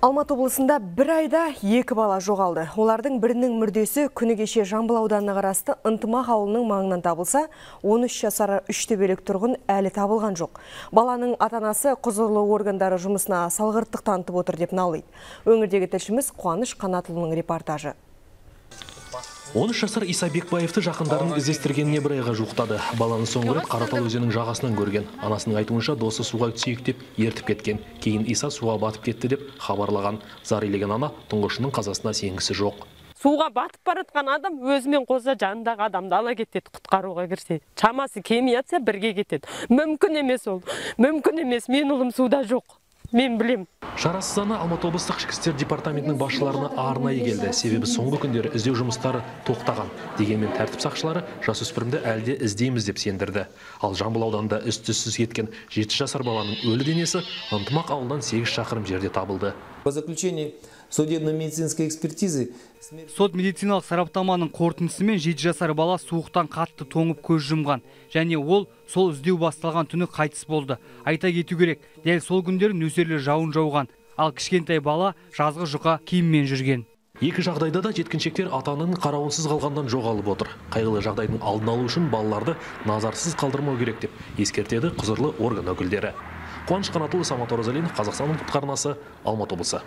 Алматы облысында бір айда 2 бала жоғалды. Олардың бірінің мүрдесі күні кеше Жамбыл ауданына қарасты Ынтымақ ауылының маңынан табылса, 13 жасар үштөбелік тұрғын әлі табылған жоқ. Баланың ата-анасы құзырлы органдары жұмысына салғырттық танытып отыр деп налиды. Өңірдегі тілшіміз Қуаныш Қанатұлының репортажы. 13 жасар Иса Бекбаевты жақындарын іздестіргеніне бір айға жуықтады. Баланы соңғы рет Қаратал өзенінің жағасынан көрген. Анасының айтуынша досы суға түсейік деп ертіп кеткен. Кейін Иса суға батып кетті деп хабарлаған. Зар илеген ана тұңғышының қазасына сенгісі жоқ. Суға батып баратқан адам өзімен қоса жанындағы адамды ала кетеді, құтқаруға кірсе. Шамасы кеми атса бірге кетеді. Мүмкін емес ол. Мүмкін емес, мен ұлым суда жоқ. Мен білем. Шарасыз ана Алматы облыстық ішкі істер департаментінің басшыларына арнайы келді. Себебі соңғы күндері іздеу жұмыстары тоқтаған. Дегенмен тәртіп сақшылары жасөспірімді әлде іздейміз деп сендірді. Ал Жамбыл ауданында із-түзсіз кеткен 7 жасар баланың өлі денесі Ынтымақ ауылдан 8 шақырым жерде табылды. По заключению судебно-медицинской экспертизы сот-медициналық сараптаманың қорытындысымен 7 жасар бала суықтан қатты тоңып көз жұмған. Және ол сол іздеу басталған түні қайтыс болды. Айта кету керек, дәл сол күндері нөсерлі жауын жауған. Ал кішкентай бала жазғы жұқа киіммен жүрген. Екі жағдайда да жеткіншектер ата-ананың қарауынсыз қалғандан жоғалып отыр. Қайғылы жағдайдың алдын алу үшін балаларды назарсыз қалдырмау керек деп ескертеді құзырлы орган өкілдері. Қуаныш Қанатұлы, Самат Оразалин, Қазақстанның арнасы, Алматы облысы.